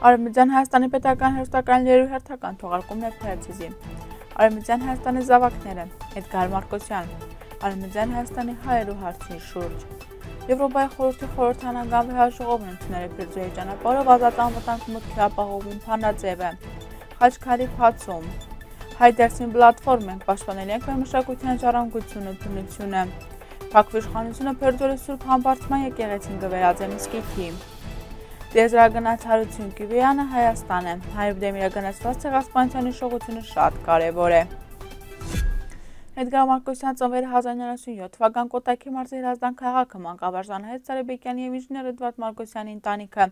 Արևմտյան Հայաստանի պետական հեռուստակայաններու հերթական թողարկումն է Փերձիզի։ Արևմտյան Հայաստանի զավակները Էդգար Մարկոսյան, Արևմտյան Հայաստանի հայերու հարցի շուրջ։ Եվրոպայի խորհրդի խորհրդանական վեհաժողովն ընդունել է Փերձիոյի ճանապարհով ազատ անվտանգ մուտքի ապահովում Փանաձևը։ Խաչքարի փացում։ Հայդերսին պլատֆորմ ենք պաշտպանել ենք մեր մշակութային ժառանգությունը, բնությունը։ Փակվի իշխանությունը Փերձիոյի Սուրբ Համբարձման եկեղեցին կվերածե մզկիթի։ Տիեզերագնացարություն Կիվյանը Հայաստան է, հայրուդեմիրագնացված ցեղասպանության հիշողությունը շատ կարևոր է։ Էդգար Մարկոսյան ծնվել 1997 թվական Կոտայքի մարզի Հրազդան քաղաքը, մանկավարժ Անահիտ Սարեբեկյանի եւ ինժեներ Էդվարդ Մարկոսյանի ընտանիքը։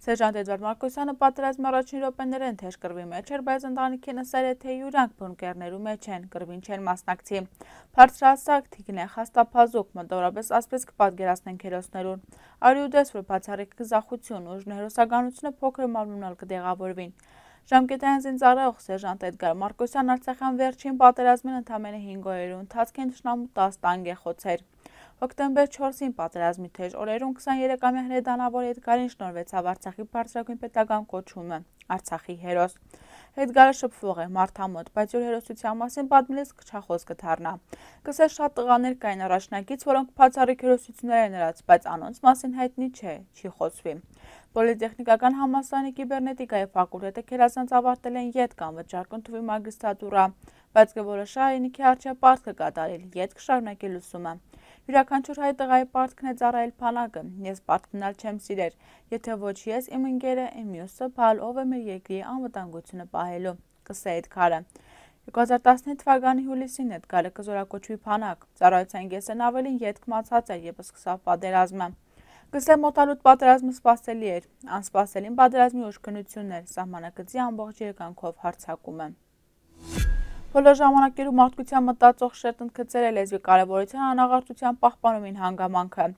Սերժանտ Էդվարդ Մարկոսյանը պատերազմի առաջին րոպեներին թեժ կռվի մեջ էր, բայց ընտանիքի նսել է, թե յուրանք բունկերներու մեջ են, կռվին չեն մասնակցի։ Բարձրահասակ թիկն է, խաստափազուկ, մոտավորապես ասպես կպատկերացնենք հերոսներուն։ Արիուդես, որ բացառիկ գզախություն, ուժն հերոսականությունը փոքր մարմնալ կդեղավորվին։ Ժամկետային զինծառայող սերժանտ Էդգար Մարկոսյան Արցախյան վերջին պատերազմին ընդամենը 5 օրերու ընթացքին թշնամու 10 տանկ է խոցեր։ Հոկտեմբեր 4-ին պատերազմի թեժ օրերուն 23-ամյա հրեդանավոր Էդգարին շնորհվեցավ Արցախի բարձրագույն պետական կոչումը՝ Արցախի հերոս։ Էդգարը շփվող է, մարդամոտ, բայց յուր հերոսության մասին պատմելիս քչախոս կդառնա։ Կսեր շատ տղաներ կային առաջնակից, որոնք բացառիկ հերոսություններ են նրանց, բայց անոնց մասին հայտնի չէ, չի խոսվի։ Պոլիտեխնիկական համալսարանի կիբեռնետիկայի ֆակուլտետը քերազանց ավարտել են ԵՏ կամ վճարական թվի մագիստրատուրա, բայց կորոշա հայրենիքի առջև պարտք կատարել, ԵՏ կշարունակել ուսումը։ Յուրաքանչյուր հայ տղայի պարտքն է ծառայել բանակը, ես պարտք մնալ չեմ սիրեր, եթե ոչ ես, իմ ընկերը, իմ մյուսը, բալ ով է մեր երկրի անվտանգությունը պահելու, կսե Էդգարը։ 2015 թվականի հուլիսին Էդգարը կզորակոչվի բանակ, ծառայության կեսն ավելին ետք մացած էր, երբ սկսավ պատերազմը։ Կսե մոտալուտ պատերազմը սպասելի էր, անսպասելին պատերազմի ուժգնությունն էր, սահմանակցի ամբողջ երկանքով հարձակումը։ Բոլոր ժամանակներում մարդկության մտածող շերտ ընդգծել է լեզվի կարևորության անաղարտության պահպանումին հանգամանքը։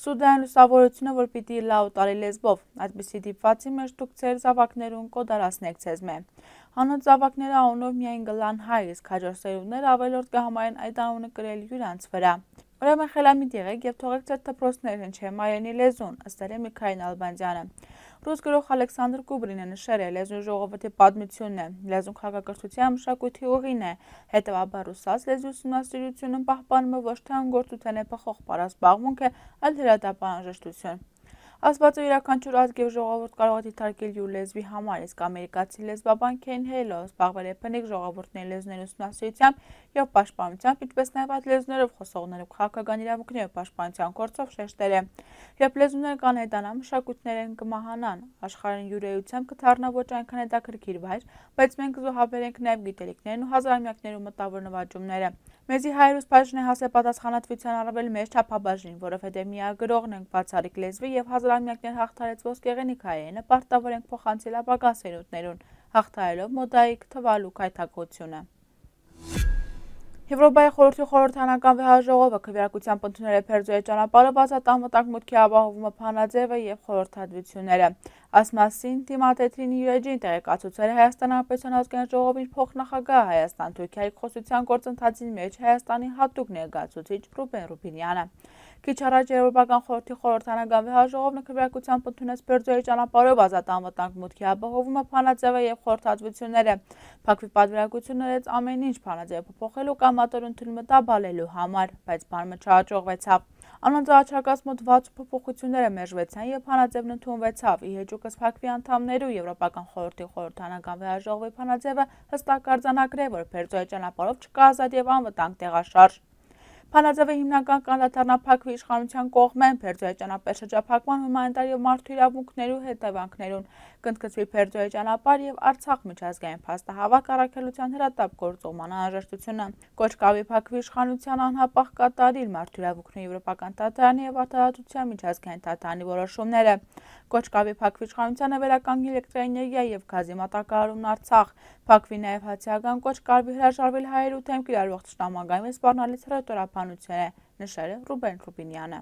Սուդային լուսավորությունը, որ պիտի լավ տարի լեզվով, այդպիսի դիպվածի մեջ դուք ձեր զավակներուն կոդարացնեք ձեզ մե։ Հանոց զավակները անունով միայն գլան հայ, իսկ հաջորդ սերունդները ավելորդ կհամարեն այդ անունը կրել յուրանց վրա։ Ուրեմն խելամիտ եղեք եւ թողեք ձեր դպրոցները հնչեն հայերենի լեզուն, ըստ Միքայել Ալբանդյանը։ Ռուս գրող Ալեքսանդր Կուբրինը նշել է լեզու ժողովրդի պատմությունն է, լեզուն քաղաքակրթության մշակույթի ուղին է, հետևաբար ռուսաց լեզվի ուսումնասիրությունը պահպանումը ոչ թե անգործության է փոխող պարասպաղմունք է, այլ հրատապանաժշտություն։ Ասվածը յուրաքանչյուր ազգ եւ ժողովուրդ կարող է դիտարկել յուր լեզվի համար, իսկ ամերիկացի լեզվաբան Քեյն Հեյլը զբաղվել է բնիկ ժողովուրդների լեզուների ուսումնասիրությամբ եւ պաշտպանությամբ, ինչպես նաեւ այդ լեզուներով խոսողներով քաղաքական իրավունքների պաշտպանության գործով շեշտել է. Երբ լեզուները կանհետանան, մշակույթներն կմահանան, աշխարհին յուրայությամբ կդառնա ոչ այնքան հետաքրքիր վայր, բայց մենք կզոհաբերենք նաեւ գիտելիքներն ու հազարամյակներու մտավոր նվաճումները։ Մեզի հայրուս բաժին է հասել պատասխանատվության առավել մեծ չափաբաժին, որովհետև միագրողն ենք բացառիկ լեզվի եւ հազարամյակներ հաղթարեց ոսկեղենիկ հայերենը պարտավոր ենք փոխանցել ապագա սերունդներուն, հաղթահարելով մոդայիկ թվալու կայթակղությունը։ Եվրոպայի խորհրդի խորհրդանական վեհաժողովը քվեարկությամբ ընդունել է Փերձիոյի ճանապարհով ազատ անվտանգ մուտքի ապահովումը Փանաձևը եւ խորհրդատվությունները։ Այս մասին Թիմաթեթրին յուրեջին տեղեկացուցել է Հայաստան Հանրապետության ազգային ժողովի փոխնախագահ Հայաստան-Թուրքիայի խոսության գործընթացի մեջ Հայաստանի հատուկ ներկայացուցիչ Ռուբեն Ռուբինյանը։ Քիչ առաջ Եվրոպական խորհրդի խորհրդանական վեհաժողովն քվեարկությամբ ընդունեց Փերձիոյի ճանապարհով ազատ անվտանգ մուտքի ապահովումը Փանաձևը եւ խորհրդատվությունները։ Փակվի պատվիրակություններից ամեն ինչ Փանաձևը փոփոխելու կամ մատոր ընդունումը տաբալելու համար, բայց բանը չհաջողվեցավ։ Անոնց առաջարկած մոտ 60 փոփոխությունները մերժվեցան եւ Փանաձևն ընդունվեցավ։ Ի հեճուկս Փակվի անդամներու Եվրոպական խորհրդի խորհրդանական վեհաժողովի Փանաձևը հստակ արձանագրել, որ Փերձիոյի ճանապարհով չկա ազատ եւ անվտանգ տեղաշարժ։ Փանաձևը հիմնական կանդադառնա Փակվի իշխանության կողմեն Փերձիոյի ճանապարհ շրջափակման հումանիտար եւ մարդու իրավունքներու հետևանքներուն, կընդգծվի Փերձիոյի ճանապարհ եւ Արցախ միջազգային փաստահավաք առաքելության հրատապ գործողման անհրաժեշտությունը, կոչ կավի Փակվի իշխանության անհապաղ կատարիլ մարդու իրավունքների եվրոպական դատարանի եւ արտահայտության միջազգային դատարանի որոշումները, կոչ կավի Փակվի իշխանությանը վերականգնել էլեկտրաէներգիա եւ գազի մատակարարումն Արցախ, Փակվի նաեւ հացիական կոչ կարվի հրաժարվել հայերու թեմ կիրառվող ճշտամագայում սպառնալից հրետորաբանություն է, նշել է Ռուբեն Ռուբինյանը։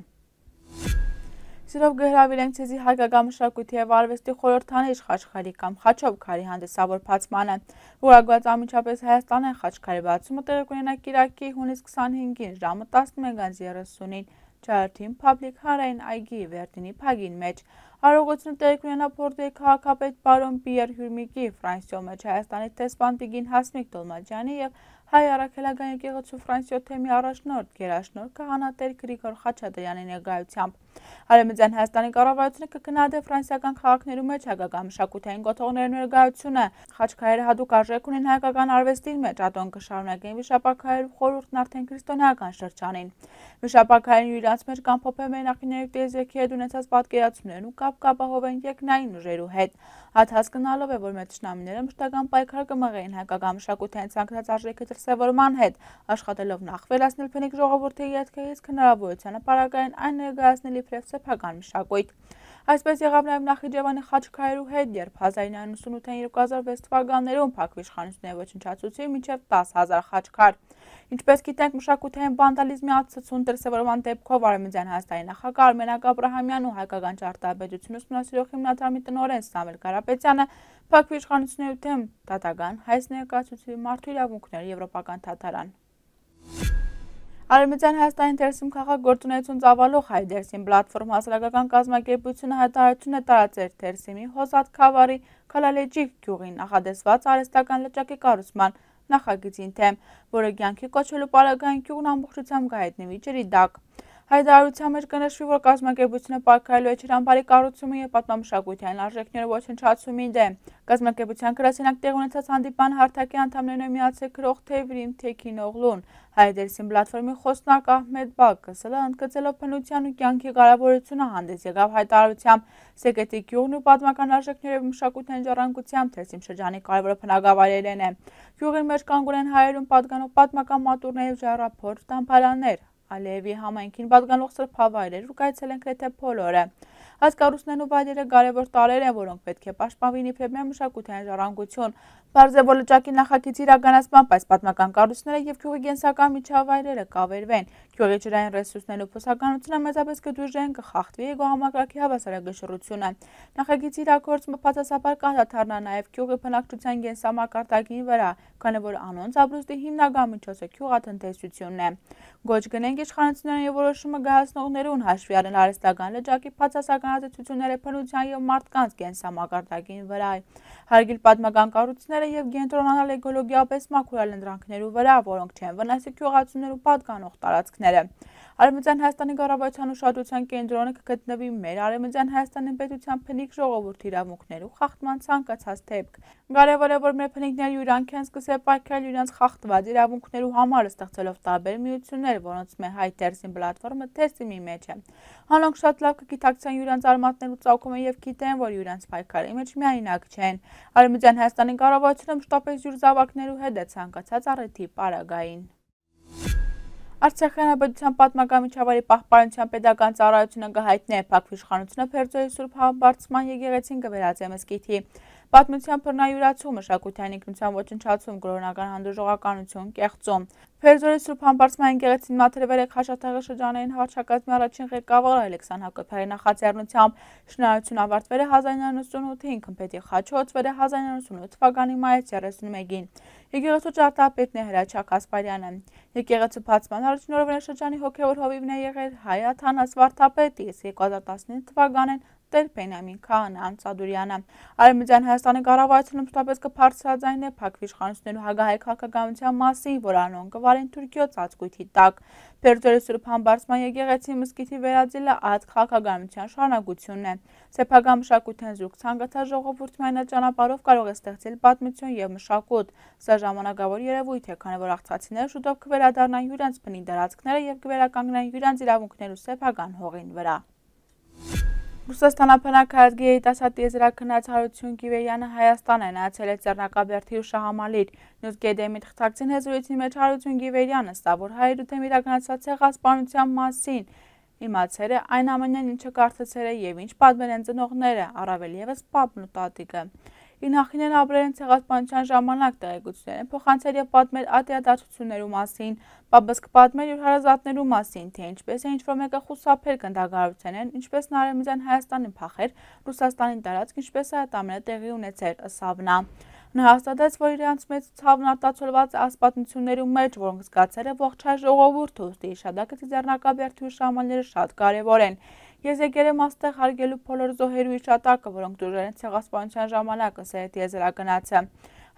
Սիրով կհրավիրենք ցեզի հայկական մշակույթի եւ արվեստի խորհրդանիշ Խաչքարի կամ Խաչովքարի հանդիսավոր բացմանը, որակված անմիջապես Հայաստանյան Խաչքարի բացումը տեղի կունենա կիրակի հունիս 25-ին ժամը 11:30-ին Ջարդին Public Հանրային այգի Վերդինի փագին մեջ։ Արարողությունը տեղի կունենա Բորդոյի քաղաքապետ բարոն Պիեր Հյուրմիկի, Ֆրանսիո մեջ Հայաստանի տեսփան Տիգին Հասմիկ Դոլմաջյանի և Հայ առաքելական եկեղեցու Ֆրանսիո թեմի առաջնորդ գերաշնորհ քահանատեր Գրիգոր Խաչատրյանի ներկայությամբ։ Արևմտյան Հայաստանի կառավարությունը կքննադե ֆրանսիական քաղաքներում մեջ հայկական մշակութային կոթողների ներկայությունը։ Խաչքարերը հատուկ արժեք ունեն հայկական արվեստի մեջ, ատոն կշարունակեն վիշապաքարերու խորհուրդն արդեն քրիստոնեական շրջանին։ Վիշապաքարերն իրենց մեջ կամփոփեն մենախիների տեզեքի հետ ունեցած պատկերացումներն ու կապահովեն երկնային ուժերու հետ։ Այդ հասկանալով է, որ մեր թշնամիները մշտական պայքար կմղեին հայկական մշակութային ցանկացած արժեքի դրսևորման հետ, աշխատելով նախ վերացնել փնիկ ժողովրդի ետքերից հնարավորությանը պարագային այն ներկայացնել իբրև սեփական մշակույթ։ Այսպես եղավ նաև Նախիջևանի խաչքարերու հետ, երբ 1998-ին 2006 թվականներում փակ իշխանությունների ոչնչացուցի մինչև 10,000 խաչքար։ Ինչպես գիտենք, մշակութային վանդալիզմի ացուցուն դրսևորման դեպքով Արևմտյան Հայաստանի նախագահ Արմենակ Աբրահամյանն ու հայկական ճարտարապետություն ուսումնասիրող հիմնադրամի տնօրեն Սամվել Կարապետյանը փակ իշխանությունների դեմ դատական հայց ներկայացուցի մարդու իրավունքների եվրոպական դատարան։ Արևմտյան Հայաստանի դերսիմ քաղաք գործունեություն ծավալող Հայ դերսիմ պլատֆորմ հասարակական կազմակերպությունը հայտարարություն է տարածել դերսիմի Հոսատ Քավարի Քալալեջի գյուղի նախադեсված արհեստական լճակի կառուցման նախագծին թեմ, որը կյանքի կոչվելու պարագային գյուղն ամբողջությամբ կհայտնվի ջրի տակ։ Հայտարարության մեջ կնշվի, որ կազմակերպությունը պայքարելու է ջրամբարի կառուցումը և պատմամշակութային արժեքների ոչնչացումի դեմ։ Կազմակերպության գրասենյակ տեղի ունեցած հանդիպան հարթակի անդամներն միացել գրող Թևրիմ Թեքինօղլուն, Հայ դերսիմ պլատֆորմի խոսնակ Ահմեդ Բակսը ընդգծելով բնության ու կյանքի կարևորությունը հանդես եկավ հայտարարությամբ Սեկետի գյուղն ու պատմական արժեքների և մշակութային ժառանգությամբ դերսիմ շրջանի կարևոր բնակավայրերն է։ Գյուղի մեջ կանգուն են հայերուն պատկանող պատմական մատուռներ և ժայռափոր տամբարաններ, Ալիևի համայնքին պատկանող սրբավայրեր ու կայցել են գրեթե բոլորը։ Այս կառույցներն ու վայրերը կարևոր տարրեր են, որոնք պետք է պաշտպանվին իբրև մեր մշակութային ժառանգություն։ Պարզ է, որ լճակի նախագծի իրականացմամբ այս պատմական կառույցները և գյուղի կենսական միջավայրերը կավերվեն։ Գյուղի ջրային ռեսուրսներն ու բուսականությունը մեծապես կդույժեն, կխախտվի էկոհամակարգի հավասարակշռությունը։ Նախագծի իրագործումը բացասաբար կանդրադառնա նաև գյուղի բնակչության կենսամակարդակի վրա, քանի որ անոնց ապրուստի հիմնական միջոցը գյուղատնտեսությունն է։ Գոչ գնենք իշխանությունների և որոշումը գահացնողներուն հաշվի առնել արհեստական լճակի բացասական ազդեցությունները բնության և մարդկանց կենսամակարդակի վրա, հարգել պատմական կառույցները և կենտրոնանալ էկոլոգիապես մաքուր այլընտրանքներու վրա, որոնք չեն վնասի գյուղացիներու պատկանող տարածքները։ Արևմտյան Հայաստանի կառավարության ուշադրության կենտրոնը կգտնվի մեր Արևմտյան Հայաստանի պետության փնիկ ժողովրդի իրավունքներու խախտման ցանկացած դեպք։ Կարևոր է, որ մեր փնիկները յուրանք են սկսել պայքարել իրենց խախտված իրավունքներու համար, ստեղծելով տարբեր միություններ, որոնց մեր Հայ դերսիմ պլատֆորմը դերսիմի մեջ է։ Հանոնք շատ լավ կգիտակցեն յուրանց արմատներու ծագումը և գիտեն, որ յուրանց պայքարի մեջ միայնակ չեն։ Արևմտյան Հայաստանի կառավարությունը մշտապես յուր զավակներու հետ է ցանկացած առիթի պարագային։ Արցախի հանրապետության պատմական միջավայրի պահպանության պետական ծառայությունը կհայտնի փակ իշխանությունը Փերձորի Սուրբ Համբարձման եկեղեցին կվերածի մզկիթի։ Պատմության բռնայուրացում, մշակութային ինքնության ոչնչացում, կրոնական հանդուրժողականություն, կեղծում։ Փերձորի Սուրբ Համբարձման եկեղեցին մաթրվել է Խաշաթաղի շրջանային հռչակազմի առաջին ղեկավար Ալեքսան Հակոբյանի նախաձեռնությամբ։ Շինարարությունը ավարտվել է 1998-ին, Քմփետի խաչը հոծվել է 1998 թվականի մայիսի 31-ին։ Եկեղեցու ճարտարապետն է Հրաչյա Կասպարյանը։ Եկեղեցու բացման առաջին օրվա շրջանի հոգևոր հովիվն է եղել Հայ Աթանաս վարդապետը, իսկ 2015 թվականին Տեր Բենյամին Քահանան Ծադուրյանը։ Արևմտյան Հայաստանի կառավարությունը մշտապես կբարձրաձայնի փակ իշխանություններու հագահայ քաղաքականության մասին, որ անոնք կվարեն Թուրքիո ծածկույթի տակ։ Փերձորի Սուրբ Համբարձման եկեղեցի մզկիթի վերածելը այդ քաղաքականության շարունակությունն է։ Սեփական մշակութային զուրկ ցանկացած ժողովուրդ միայն ճանապարհով կարող է ստեղծել պատմություն եւ մշակույթ։ Սա ժամանակավոր երևույթ է, քանի որ աղցացիները շուտով կվերադառնան յուրանց բնի տարածքները եւ կվերականգնեն յուրանց իրավունքներու սեփական հողին վրա։ Ռուսաստանապնակ հայազգի երիտասարդ տիեզերաքննած Հարություն Գիվերյանը Հայաստան է նայեցել է Ձեռնարկաբերդի ու Շահամալիր։ Նյուզգեդեմի թղթակցին հեզրույթի մեջ Հարություն Գիվերյանը ստա, որ հայերու դեմ իրականացված ցեղասպանության մասին իմացել է այն ամենն, ինչը կարծեցել է եւ ինչ պատմել են ծնողները, առավել եւս պապն ու տատիկը։ Ինախինեն ապրել են ցեղասպանության ժամանակ տեղեկություններ են փոխանցել եւ պատմել ատեադարձություններու մասին, պապս կպատմել իր հարազատներու մասին, թե ինչպես է ինչ-որ մեկը խուսափել գնդագարության են, ինչպես Արևմտյան Հայաստանին փախեր, Ռուսաստանին տարածք, ինչպես է այդ ամենը տեղի ունեցել, ըսավ նա։ Նա հաստատեց, որ իրենց մեծ ցավն արտացոլված է ասպատություններու մեջ, որոնք զգացել է ողջ հայ ժողովուրդը, ուստի հիշադակը Ձեռնարկաբերդի ու Շահամալիրը շատ կարևոր են։ Ես եկել եմ աստեղ հարգելու բոլոր զոհերու իշատակը, որոնք դուրժել են ցեղասպանության ժամանակ, ըստ եզրագնացը։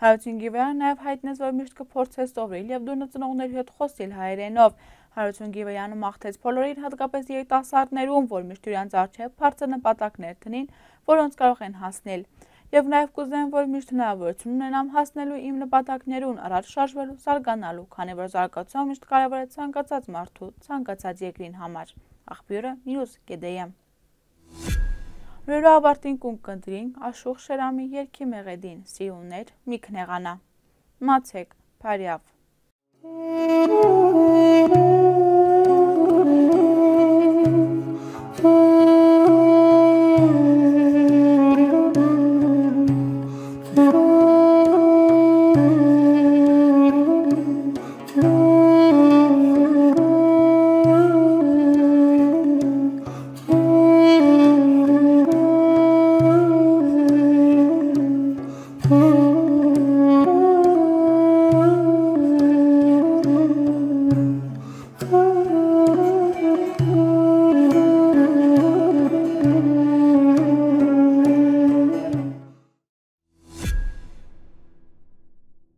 Հարություն Գիվեյանը նաև հայտնեց, որ միշտ կփորձեր սովորել և դուրնը ծնողների հետ խոսել հայերենով։ Հարություն Գիվեյանը մաղթեց բոլորին, հատկապես երիտասարդներուն, որ միշտ իրենց առջև բարձր նպատակներ տնին, որոնց կարող են հասնել։ Եվ նաև կուզեմ, որ միշտ հնարավորություն ունենամ հասնելու իմ նպատակներուն, առաջ շարժվելու, զարգանալու, քանի որ զարգացումը միշտ կարևոր է ցանկացած մարդու, ցանկացած երկրին համար։ Աղբյուրը News GDM։ Լուրը ավարտին կունք կնդրին Աշուխ Շերամի երկի մեղեդին, սիրուններ մի քնեղանա։ Մացեք, Փարյավ։